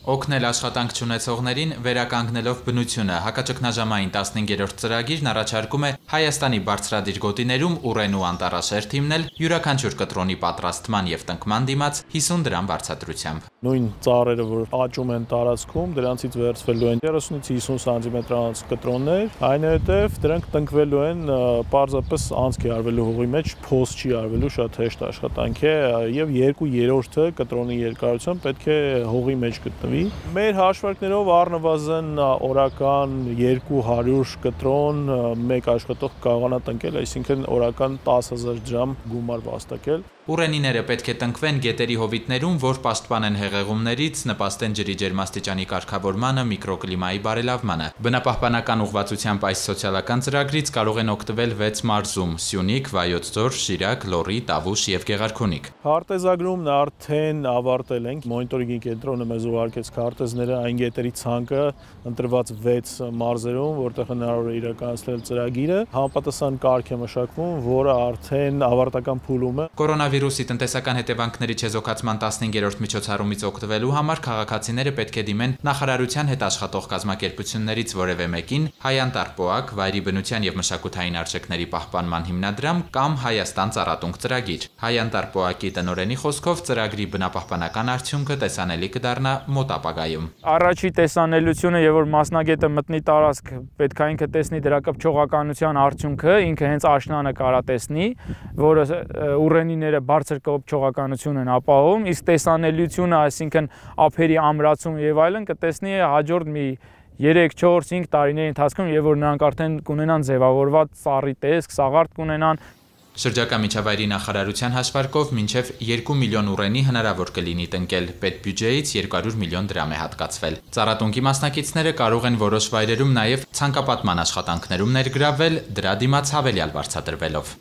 Օգնել աշխատանք չունեցողներին վերականգնելով բնությունը հակաճգնաժամային 15-րդ ծրագիրն առաջարկում է Հայաստանի բարձրադիր գոտիներում ուռենու անտառաշերտ հիմնել յուրաքանչյուր կտրոնի պատրաստման եւ տնկման դիմաց 50 դրամ վարձատրությամբ։ Նույն ծառերը, որ աճում են տարածքում, դրանցից վերցվելու են 30-ից 50 սանտիմետրանոց կտրոններ, այնուհետև դրանք տնկվելու են պարզապես անցքի արվելու հողի մեջ, փոս չի արվելու, շատ հեշտ աշխատանք է եւ 2/3-ը կտրոնի երկարությամբ պետք է հողի մեջ գտնվի։ Մեր հաշվարկներով առնվազն օրական 200 կտրոն մեկ աշխատող կարողանա տնկել, այսինքն օրական 10,000 դրամ գումար վաստակել։ Ուռենիները պետք է տնկվեն գետերի հովիտներում, որ պաշտպանեն հեղեղումներից, նպաստեն ջրի ջերմաստիճանի կարգավորմանը, միկրոկլիմայի բարելավմանը։ Բնապահպանական ուղղվածությամբ այս սոցիալական ծրագրից կարող են օգտվել 6 մարզում՝ Սյունիք, Վայոց ձոր, Շիրակ, Լոռի, Տավուշ եւ Գեղարքունիք։ Քարտեզագրումն արդեն ավարտել ենք։ Մոնիտորինգի կենտրոնը մեզ ուղարկեց քարտեզները այն գետերի ցանկը ընտրված 6 մարզերում, որտեղ հնարավոր է իրականացնել ծրագիրը։ Համապատասխան կարգ է մշակվում, որը արդեն ավարտական փուլում է։ Կորոնավիրուսի տնտեսական հետևանքների չեզոքացման 15-րդ միջոցառումից օգտվելու համար քաղաքացիները պետք է դիմեն նախարարության հետ աշխատող կազմակերպություններից որևէ մեկին, Հայանտար-ՊՕԱԿ, Վայրի բնության եւ մշակութային արժեքների պահպանման հիմնադրամ կամ Հայաստան ծառատունկ ծրագիր։ Հայանտար-ՊՕԱԿ-ի տնօրենի խոսքով ծրագրի բնապահպանական արդյունքը տեսանելի կդառնա մոտ ապագայում։ Առաջի տեսանելիությունը եւ որ մասնագետը մտնի տարածք, պետք է ինքը տեսնի դրա կպչողականության արդյունքը, ինքը հենց աշնանը կարա տեսնի, որը ուռենիները բարձր կոփչողականություն են ապահովում, իսկ տեսանելիությունը, այսինքն ափերի ամրացում եւ այլն կտեսնի հաջորդ մի 3-4-5 տարիների ընթացքում, եւ որ նրանք արդեն կունենան ձևավորված ծառի տեսք, սաղարթ կունենան։ Շրջակա միջավայրի նախարարության հաշվարկով մինչև 2 միլիոն ուռենի հնարավոր կլինի տնկել, պետբյուջեից 200 միլիոն դրամ է հատկացվել։ Ծառատունկի մասնակիցները կարող են որոշ վայրերում նաև ցանկապատման աշխատանքներում ներգրավվել, դրա դիմաց հավելյալ վարձատրվելով։